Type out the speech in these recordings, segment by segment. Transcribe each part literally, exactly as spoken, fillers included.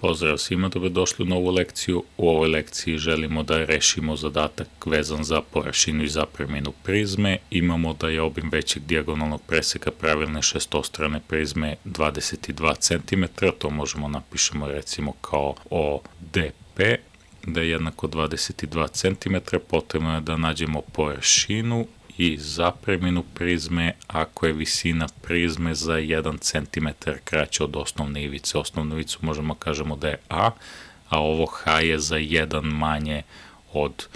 Pozdrav svima, dobrodošli u novu lekciju. U ovoj lekciji želimo da rešimo zadatak vezan za površinu i zapreminu prizme. Imamo da je obim većeg dijagonalnog preseka pravilne šestostrane prizme dvadeset dva centimetra, to možemo napišemo recimo kao O D P, da je jednako dvadeset dva centimetra, potrebno je da nađemo površinu i zapreminu prizme ako je visina prizme za jedan centimetar kraća od osnovne ivice. Osnovnu ivicu možemo kažemo da je A, a ovo H je za jedan manje od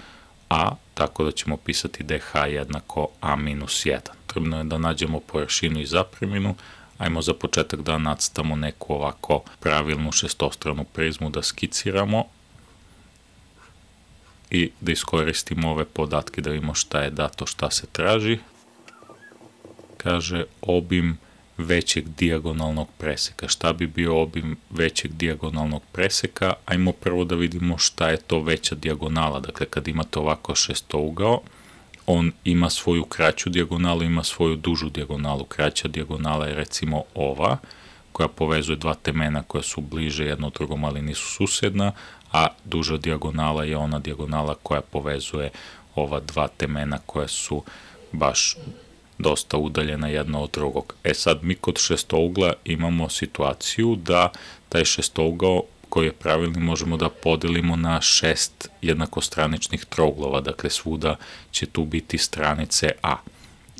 A, tako da ćemo pisati da je H jednako A minus jedan. Trebno je da nađemo površinu i zapreminu. Ajmo za početak da nacrtamo neku ovako pravilnu šestostranu prizmu, da skiciramo i da iskoristimo ove podatke da vidimo šta je dato, šta se traži. Kaže obim većeg dijagonalnog preseka. Šta bi bio obim većeg dijagonalnog preseka? Ajmo prvo da vidimo šta je to veća dijagonala. Dakle, kad imate ovako šestougao, on ima svoju kraću dijagonalu, ima svoju dužu dijagonalu. Kraća dijagonala je recimo ova, koja povezuje dva temena koja su bliže jedno drugom, ali nisu susedna, a duža dijagonala je ona dijagonala koja povezuje ova dva temena koja su baš dosta udaljena jedno od drugog. E sad, mi kod šestougla imamo situaciju da taj šestougao koji je pravilni možemo da podelimo na šest jednakostraničnih trouglova, dakle svuda će tu biti stranice A.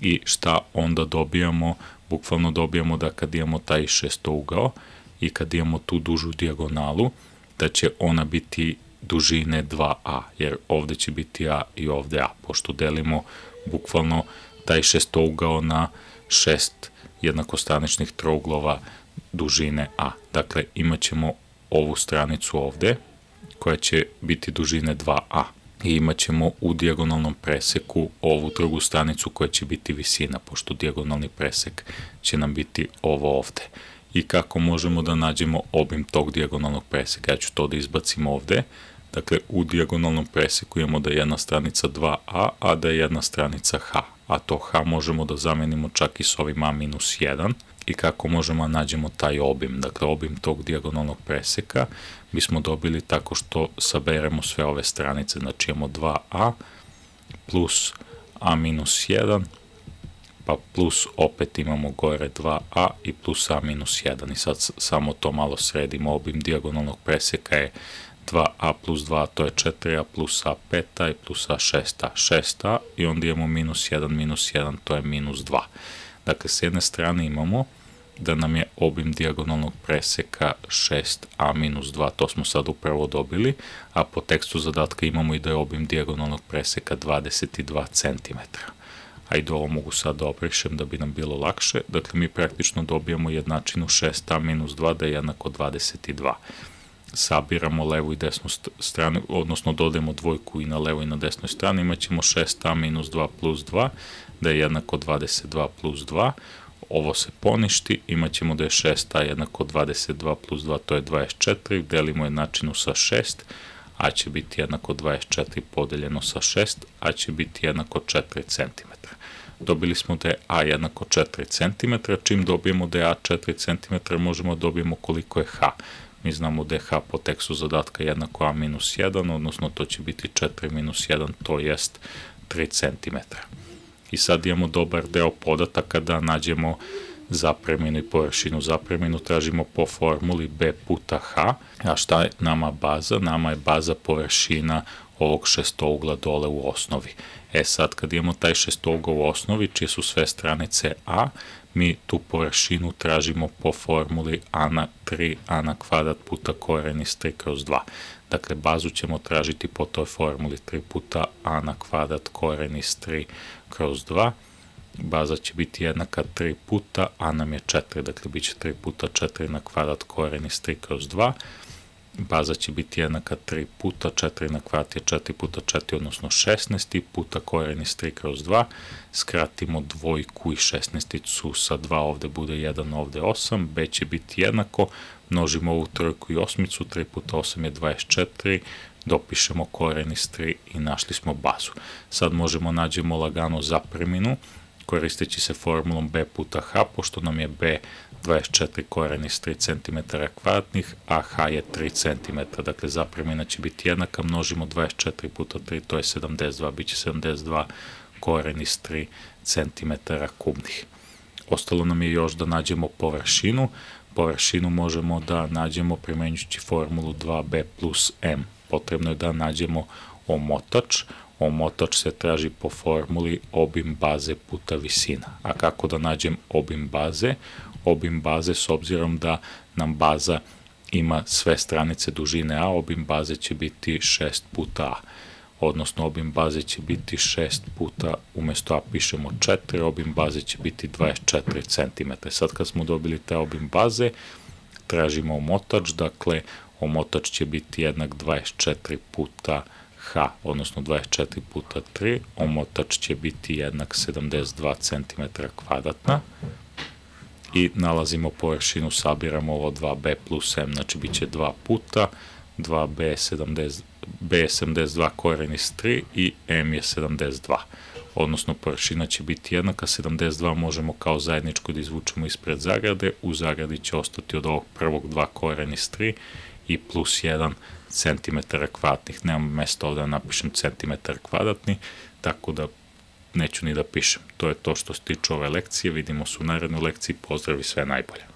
I šta onda dobijamo? Bukvalno dobijamo da kad imamo taj šestougao i kad imamo tu dužu dijagonalu, da će ona biti dužine dva A, jer ovde će biti A i ovde A, pošto delimo bukvalno taj šestougao na šest jednakostraničnih trouglova dužine A. Dakle, imat ćemo ovu stranicu ovde, koja će biti dužine dva A. I imat ćemo u dijagonalnom preseku ovu drugu stranicu koja će biti visina, pošto dijagonalni presek će nam biti ovo ovde. I kako možemo da nađemo obim tog dijagonalnog preseka? Ja ću to da izbacim ovde. Dakle, u dijagonalnom preseku imamo da je jedna stranica dva A, a da je jedna stranica H. A to H možemo da zamenimo čak i s ovim A minus jedan. I kako možemo da nađemo taj obim? Dakle, obim tog dijagonalnog preseka bismo dobili tako što saberemo sve ove stranice. Znači, imamo dva A plus A minus jedan, pa plus opet imamo gore dva A i plus A minus jedan. I sad samo to malo sredimo. Obim dijagonalnog preseka je dva A plus dva, to je četiri A plus A pet A i plus A šest A. šest A i onda imamo minus jedan minus jedan, to je minus dva. Dakle, s jedne strane imamo da nam je obim dijagonalnog preseka šest A minus dva, to smo sad upravo dobili, a po tekstu zadatka imamo i da je obim dijagonalnog preseka dvadeset dva centimetra. Ajde, ovo mogu sad da obrišem da bi nam bilo lakše. Dakle, mi praktično dobijamo jednačinu šest A minus dva da je jednako dvadeset dva. Sabiramo levu i desnu stranu, odnosno dodajemo dvojku i na levoj i na desnoj strani, imat ćemo šest A minus dva plus dva da je jednako dvadeset dva plus dva. Ovo se poništi, imat ćemo da je šest A jednako dvadeset dva plus dva, to je dvadeset četiri, delimo jednačinu sa šest, A će biti jednako dvadeset četiri podeljeno sa šest, A će biti jednako četiri centimetra. Dobili smo da je A jednako četiri centimetra, čim dobijemo da je A četiri centimetra možemo da dobijemo koliko je H. Mi znamo da je H po tekstu zadatka jednako A minus jedan, odnosno to će biti četiri minus jedan, to jest tri centimetra. I sad imamo dobar deo podataka da nađemo zapreminu i površinu. Zapreminu tražimo po formuli B puta H, a šta je nama baza? Nama je baza površina ovog šestougla dole u osnovi. E sad, kad imamo taj šestougao u osnovi, čije su sve stranice A, mi tu površinu tražimo po formuli A na tri A na kvadrat puta koren iz tri kroz dva. Dakle, bazu ćemo tražiti po toj formuli tri puta A na kvadrat koren iz tri kroz dva. Baza će biti jednaka tri puta, A nam je četiri, dakle bit će tri puta četiri na kvadrat koren iz tri kroz dva. Baza će biti jednaka tri puta, četiri na kvadrat je četiri puta četiri, odnosno šesnaest, puta koren iz tri kroz dva. Skratimo dvojku i šesnaesticu sa dva, ovde bude jedan, ovde osam. B će biti jednako, množimo ovu trojku i osmicu, tri puta osam je dvadeset četiri, dopišemo koren iz tri i našli smo bazu. Sad možemo nađemo lagano zapreminu, koristeći se formulom B puta H, pošto nam je B dvadeset četiri koren iz tri centimetra kvadratnih, a h je tri centimetra. Dakle, zapremina će biti jednaka, množimo dvadeset četiri puta tri, to je sedamdeset dva, bit će sedamdeset dva koren iz tri centimetra kubnih. Ostalo nam je još da nađemo površinu. Površinu možemo da nađemo primenjujući formulu dva b plus m. Potrebno je da nađemo omotač. Omotač se traži po formuli obim baze puta visina. A kako da nađem obim baze? Obim baze, s obzirom da nam baza ima sve stranice dužine a, obim baze će biti šest puta a. Odnosno, obim baze će biti šest puta, umjesto a pišemo četiri, obim baze će biti dvadeset četiri centimetra. Sad kad smo dobili taj obim baze, tražimo omotač, dakle, omotač će biti jednak dvadeset četiri puta h, odnosno dvadeset četiri puta tri, omotač će biti jednak sedamdeset dva centimetra kvadratna i nalazimo površinu, sabiramo ovo dva b plus m, znači bit će dva puta, dva b je sedamdeset dva koren iz tri i m je sedamdeset dva. Odnosno, površina će biti jednaka, sedamdeset dva možemo kao zajedničko da izvučemo ispred zagrade, u zagradi će ostati od ovog prvog dva koren iz tri i plus jedan centimetar kvadratnih. Nemam mesta ovdje da napišem centimetar kvadratni, tako da neću ni da pišem. To je to što se tiče ove lekcije, vidimo se u narednoj lekciji, pozdrav i sve najbolje.